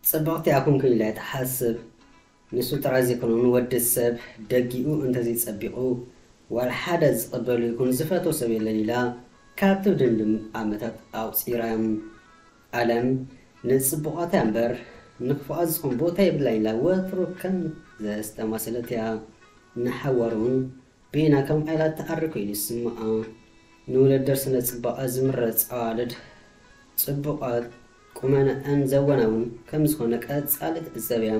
ጽብቕቲ ኣኹንኩ ኢላ እያ ትሓስብ። ንሱ ጥራይ ዘይኮነ፣ ንወዲ ሰብ ደጊኡ እንተዘይጸቢቑ፣ ዋላ ሓደ ዝቕበሉ ይኹን ዝፈትዎ ሰብ የለን ኢላ ካብ ትድምድም ዓመታት ኣቑጺራ። ኣለም ንጽቡቓት እያ እምበር ንክፉኣት ዝኾን ቦታ የብላን ኢላ ወትሩ ከም ዘስተማሰለት እያ። ንሓዋሩ እውን ቤና ከም ዓይላ ትኣሪ ኮይኑ ይስምዓ። ንውድድር ስነ ጽባቐ ዝምረጽ ኣዋልድ ጽቡቓት፣ ቁመነአን ዘወናውን ከም ዝኾነ ቀጻሊ ትዕዘብ እያ።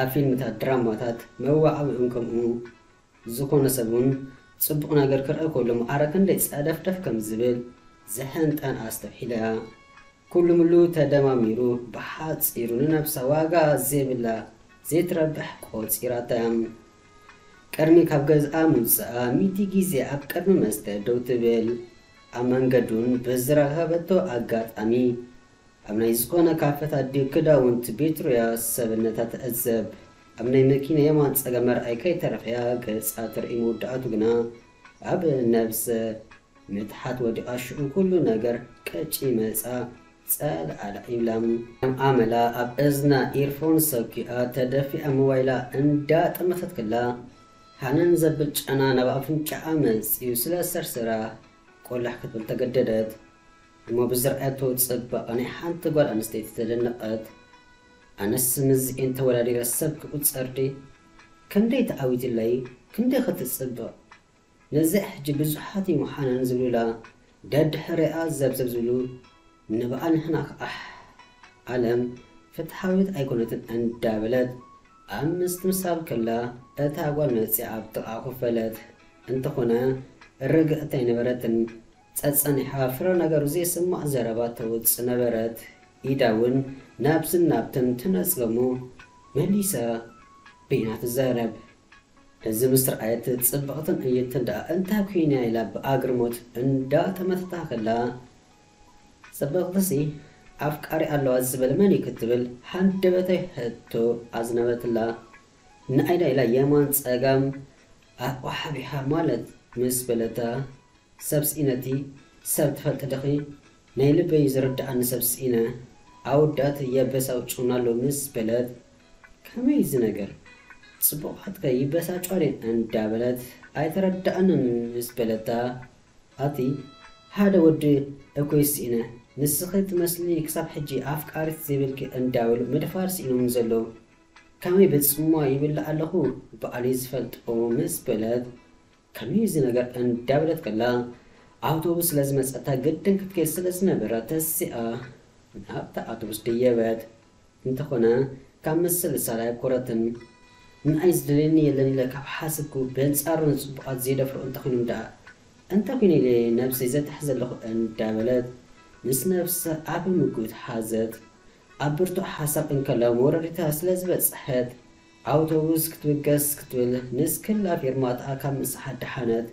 ኣብ ፊልምታት፣ ድራማታት መዋዓውዒኦም ከምኡ ዝኾነ ሰብ እውን ጽቡቕ ነገር ክርኢ ከሎ ማዕረ ክንደይ ጸደፍደፍ ከም ዝብል ዝሕንጠን ኣስተብሒላ እያ። ኩሉ ምሉ ተደማሚሩ ብሓጺሩ ንነብሳ ዋጋ ዘይብላ ዘይትረብሕ ቆጺራታ እያ። ቅድሚ ካብ ገዝኣ ምውጽኣ ሚእቲ ግዜ ኣብ ቅድሚ መስተ ደው ትብል። ኣብ መንገዱን ብዝረኸበቶ ኣጋጣሚ ኣብ ናይ ዝኾነ ካፈት ኣዲኡ ክዳውንቲ ቤት ሩያ ሰብነታ ትዕዘብ። ኣብ ናይ መኪና የማን ጸጋም መርኣይ ከይተረፈያ ገጻ ትርኢ መወዳእቱ ግና ኣብ ነብሰ ምትሓት ወዲቓ ሽዑ ኩሉ ነገር ቀጭ መጻ ጸልኣላ ይብላ። ከም ኣመላ ኣብ እዝና ኢርፎን ሰኪኣ ተደፊኣ ሞባይላ እንዳጠመተት ከላ ሃነን ዘብል ጨና ናብ ኣፍንጫኣ መጺኡ ስለ ሰርሰራ ቆላሕ ክትብል ተገደደት። እሞ ብዝረኣየቶ ጽባቐ ናይ ሓንቲ ጓል ኣንስተይቲ ተደነቐት። ኣነስ ምስዚኤን ተወዳዲረ ሰብ ክቑጸር ድየ? ክንደይ ተዓዊትለይ፣ ክንደይ ክትጽብቕ። ነዚኣ ሕጂ ብዙሓት እዮም ሓነን ዝብሉላ። ደድሕሪኣ ዘብዘብ ዝብሉ ንበዓል ንሕና ከኣ ኣለም ፍትሓዊት ኣይኮነትን እንዳበለት ኣብ ምስትምሳል ከላ እታ ጓል መጺኣ ኣብ ጥቓ ኮፍ በለት። እንተኾነ ርግእቲ ኣይነበረትን። ጸጸኒሓ ፍረ ነገሩ ዘይስማዕ ዘረባ ተውጽእ ነበረት። ኢዳ እውን ናብዝን ናብትን ትነጽግ እሞ መሊሳ በይና ትዛረብ። እዚ ምስ ረኣየት ጽብቕትን ዕይንትን ደኣ እንታይ ኮይና ኢላ ብኣግርሞት እንዳጠመተታ ከላ፣ ጽብቕትሲ ኣፍቃሪ ኣለዋ ዝበለ መን እዩ ክትብል ሃንደበታዊ ሕቶ ኣዝነበትላ። ንኣይዳ ኢላ የማን ጸጋም ኣቕሓ ሓቢሓ ማለት ምስ በለታ፣ ሰብ ስኢነቲ ሰብ ትፈልጢ ዲኺ? ናይ ልበይ ዝርድኣኒ ሰብ ስኢነ። ኣወዳት የበሳጭውና ኣለዉ ምስ በለት፣ ከመይ እዚ ነገር? ጽቡቓትከ ይበሳጭዋ ድየን እንዳበለት ኣይተረድኣንን ምስ በለታ፣ ኣቲ ሓደ ወዲ እኮ ስኢነ፣ ንስኺ ትመስሊ ክሳብ ሕጂ ኣፍቃሪት ዘይብልኪ እንዳበሉ ምድፋር ስኢኖም ዘለዉ። ከመይ ብጽምዋ ይብላዕ ኣለኹ ባዕለይ ዝፈልጦ ምስ በለት፣ ከመይ እዚ ነገር እንዳበለት ከላ፣ ኣውቶቡስ ስለ ዝመጸታ ግድን ክትከይድ ስለ ዝነበራ ተሲኣ ናብታ ኣውቶቡስ ደየበት። እንተኾነ ካብ ምስልሳል ኣየኮረትን። ንኣይ ዝደልየኒ የለን ኢለ ካብ ሓሰብኩ፣ በንጻሩ ንጽቡቓት ዘይደፍሩ እንተኾይኖም ደኣ እንታይ ኮይነ ኢለ ነብሰይ ዘትሕዝ ኣለኹ እንዳበለት ምስ ነብሳ ዓቢ ምጉት ሓዘት። ኣብ ብርቱዕ ሓሳብ እንከላ መውረዲታ ስለ ዝበጽሐት ኣውቶቡስ ክትብገስ ክትብል ንስክላ ፌርማታኣ ካብ ምስሓት ደሓነት።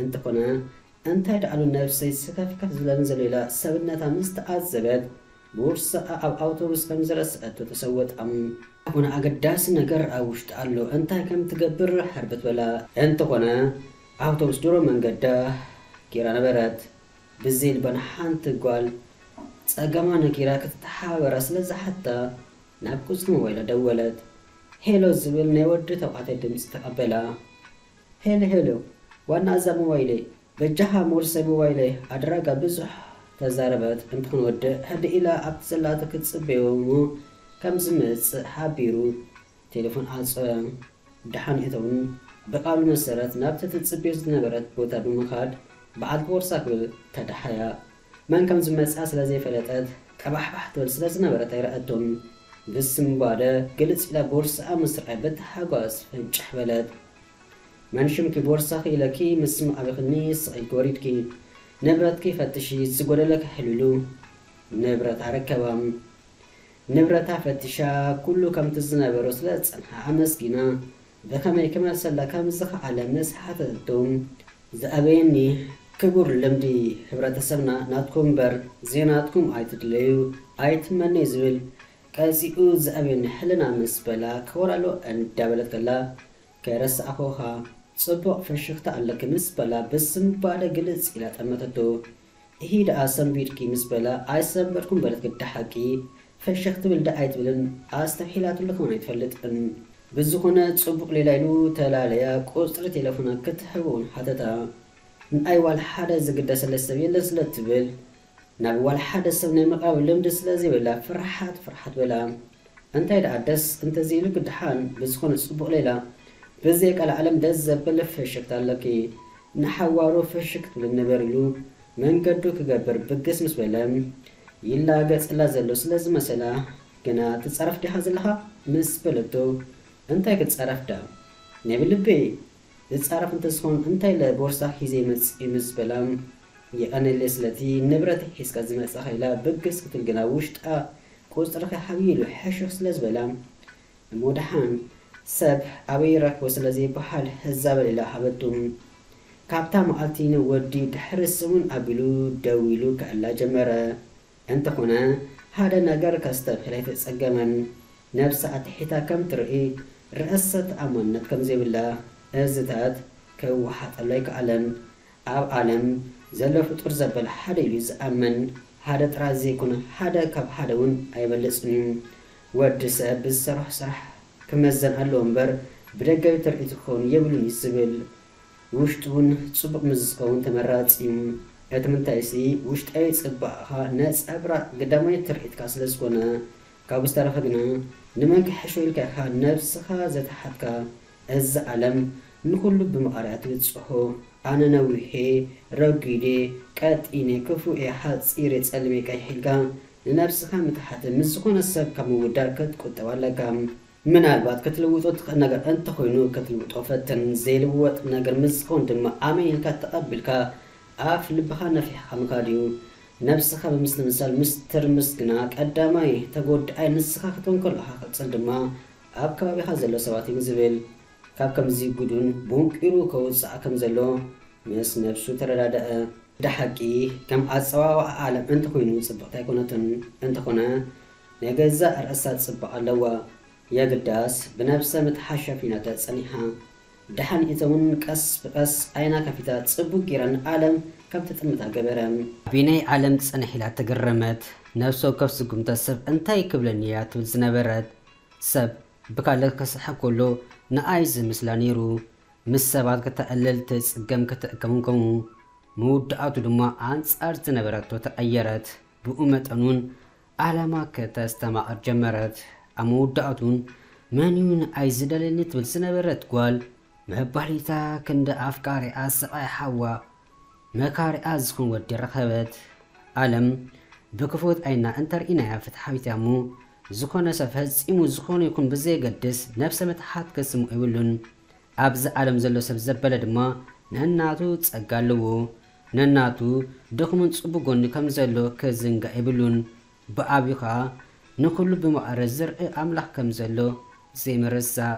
እንተኾነ እንታይ ደኣሉ ነብሰይ ስከፍከፍ ዝብለኒ ዘሎ ኢላ ሰብነታ ምስ ተዓዘበት፣ ቦርሳኣ ኣብ ኣውቶቡስ ከም ዝረስዐቶ ተሰወጣ። ዝኾነ ኣገዳሲ ነገር ኣብ ውሽጢ ኣሎ፣ እንታይ ከም ትገብር ሕርብት በላ። እንተኾነ ኣውቶቡስ ድሮ መንገዳ ጌራ ነበረት። ብዘይ ልባ ንሓንቲ ጓል ጸገማ ነጊራ ክትተሓባበራ ስለ ዝሓታ ናብ ቁጽሪ ሞባይላ ደወለት። ሄሎ ዝብል ናይ ወዲ ተባዕታይ ድምጺ ተቐበላ። ሄሎ ሄሎ፣ ዋና እዛ ሞባይለይ፣ በጃኻ ሞርሰይ ሞባይለይ ኣድራጋ ብዙሕ ተዛረበት። እንተኾነ ወዲ ሕድእ ኢላ ኣብቲ ዘላቶ ክትጽበዮ እሞ ከም ዝመጽእ ሓቢሩ ቴሌፎን ዓጸወ። ደሓን እተውን ብቓሉ መሰረት ናብቲ ትጽበዮ ዝነበረት ቦታ ብምኻድ በዓልቲ ቦርሳ ክብል ተዳሓያ። መን ከም ዝመጽኣ ስለ ዘይፈለጠት ቀባሕባሕ ትብል ስለ ዝነበረት ኣይረኣቶን። ብስንባደ ግልጽ ኢላ ቦርስኣ ምስ ረኣየት ብታሓጓስ ፍንጭሕ በለት። መን ሽምኪ ቦርሳኺ ኢለኪ ምስ ምዓብኽኒ ስቕ ኢልኪ ወሪድኪ። ንብረትኪ ፈትሺ፣ ዝጎደለኪ ሕልሉ። ንብረታ ረከባ። ንብረታ ፈቲሻ ኩሉ ከምቲ ዝነበሮ ስለ ዝጸንሓ ኣመስጊና። ብኸመይ ክመልሰላ ከም ዝኸኣለ ምስ ሓተተቶ፣ ዝኣበየኒ ክቡር ልምዲ ሕብረተሰብና ናትኩም እምበር ዘይናትኩም ኣይትድለዩ ኣይትመነዩ ዝብል ቀጺኡ ዝኣበየኒ ሕልና ምስ በላ ክወራሎ እንዳበለት ከላ ከይረሳዕኹኻ ጽቡቕ ፍሽኽታ ኣለኪ ምስ በላ ብስንባደ ግልጽ ኢላ ጠመተቶ። እሂ ደኣ ሰንቢድኪ ምስ በላ ኣይሰንበድኩን በለት ግዲ ሓቂ። ፍሽኽ ትብል ደኣ ኣይትብልን ኣስተብሒላትሉ ከማን ኣይትፈልጥን። ብዝኾነ ጽቡቕ ሌላ ኢሉ ተላለያ ቁጽሪ ቴሌፎና ክትህቦ እውን ሓተታ። ንኣይ ዋላ ሓደ ዝግደሰለይ ሰብ የለን ስለ ትብል ናብ ዋላ ሓደ ሰብ ናይ ምቕራብ ልምዲ ስለ ዘይብላ ፍርሓት ፍርሓት በላ። እንታይ ደኣ ደስ እንተዘይሉ ግድሓን ብዝኾነ ጽቡቕ ሌላ ብዘይ ቀልዓለም ደስ ዘብል ፍሽክታ ኣለኪ። ንሓዋሩ ፍሽክ ክትብል ንበር ኢሉ መንገዱ ክገብር ብግስ ምስ በለ ይላገጽላ ዘሎ ስለ ዝመሰላ ግና ትጻረፍ ዲኻ ዘለኻ ምስ በለቶ እንታይ ክትጻረፍ ደኣ ናይ ብልበይ ዝጻረፍ እንተዝኾን እንታይ ኢለ ቦርሳ ሒዘ ይመጽእ ምስ በላ የቐነለይ ስለቲ ንብረት ሒዝካ ዝመጻኻ ኢላ ብግስ ክትብል ግና ውሽጣ ቁጽርኺ ሓብዩ ኢሉ ሕሹኽ ስለ ዝበላ እሞ ደሓን ሰብ ኣበይ ይረክቦ ስለ ዘይበሃል ህዛበል ኢላ ሃበቱ። ካብታ መዓልቲ ንወዲ ድሕሪ ሰሙን ኣቢሉ ደዊሉ ክዕላ ጀመረ። እንተኾነ ሓደ ነገር ከስተብህል ኣይተጸገመን። ነብሳ ኣትሒታ ከም ትርኢ ርእሰ ተኣማንነት ከም ዘይብላ እዝታት ክወሓጠሉ ኣይከኣለን። ኣብ ዓለም ዘሎ ፍጡር ዘበለ ሓደ ኢሉ ዝኣምን ሓደ ጥራይ ዘይኮነ ሓደ ካብ ሓደ እውን ኣይበልጽን እዩ። ወዲ ሰብ ብዝሰርሖ ስራሕ ክመዘን ኣለዎ እምበር ብደጋዊ ትርኢት ክኸውን የብሉን እዩ ዝብል። ውሽጡ እውን ጽቡቕ ምስ ዝኸውን ተመራጺ እዩ። እቲ ምንታይሲ ውሽጣዊ ጽባቐኻ ነጸብራቕ ግዳማዊ ትርኢትካ ስለ ዝኾነ ካብኡ ዝተረፈ ግና ንመን ክሕሾ ኢልካ ኢኻ ነብስኻ ዘተሓትካ። እዛ ዓለም ንኹሉ ብመቓርያ ትብጽሖ። ኣነ ነዊሔ ረጒዴ ቀጢነ ክፉኤ ሓጺሬ ጸሊሜ ቀይሕ ኢልካ ንነብስኻ ምትሓት ምስ ዝኾነ ሰብ ካብ ምውዳእ ክትቁጠብ ኣለካ። ምናልባት ክትልውጦ ትኽእል ነገር እንተኾይኑ ክትልውጦ ፈትን። ዘይልወጥ ነገር ምስ ዝኾን ድማ ኣሜን ኢልካ ተቐቢልካ ኣፍ ልብኻ ነፊሕኻ ምኻድ እዩ። ነብስኻ ብምስትምሳል ምስትርምስ ግና ቀዳማይ ተጎዳኣይ ንስኻ ክትኮን ከለኻ ቀጽል ድማ ኣብ ከባቢኻ ዘሎ ሰባት እዩ ዝብል። ካብ ከምዚ ጉዱን ቦንቂሩ ከውጽኣ ከም ዘሎ ምስ ነብሱ ተረዳደአ። ብሓቂ ከም ኣጸዋውዓ ዓለም እንተኾይኑ ጽብቕቲ ኣይኮነትን። እንተኾነ ናይ ገዛእ ርእሳ ጽባቐ ኣለዋ። የግዳስ ብነብሰ ምትሓት ሸፊናቶ ጸኒሓ። ደሓን ኢቶ እውን ቀስ ብቐስ ዓይና ከፊታ ጽቡቕ ጌራ ንዓለም ከም ትጥምታ ገበረ። ኣበየናይ ዓለም ጽንሕ ኢላ ተገረመት። ነብሲ ወከፍ ስጉምታ ሰብ እንታይ ክብለኒ እያ ትብል ዝነበረት ሰብ ብካልእ ክስሕብ ከሎ ንኣይ ዝምስላ ነይሩ። ምስ ሰባት ከተዕልል ትጽገም ክትእከም ከምኡ። መወዳእቱ ድማ ኣንጻር ዝነበረቶ ተቐየረት። ብኡ መጠን እውን ዓላማ ከተስተማቕር ጀመረት። ኣብ መወዳእቱ እውን መን እዩ ንኣይ ዝደልየኒ ትብል ዝነበረት ጓል መባሊታ ክንዲ ኣፍቃሪኣ ሰብኣይ ሓዋ መካሪኣ ዝኾን ወዲ ረኸበት። ዓለም ብክፉት ዓይና እንተርኢናያ ፍትሓዊት እያ እሞ ዝኾነ ሰብ ፈጺሙ ዝኾነ ይኹን ብዘየገድስ ነብሰ ምትሓት ክስምዖ የብሉን። ኣብዚ ዓለም ዘሎ ሰብ ዘበለ ድማ ነናቱ ጸጋ ኣለዎ። ነናቱ ድኹምን ጽቡቕ ጎኒ ከም ዘሎ ክዝንጋዕ የብሉን። ብዓብዩ ኸኣ ንኹሉ ብማዕረ ዝርኢ ኣምላኽ ከም ዘሎ ዘይምርሳእ።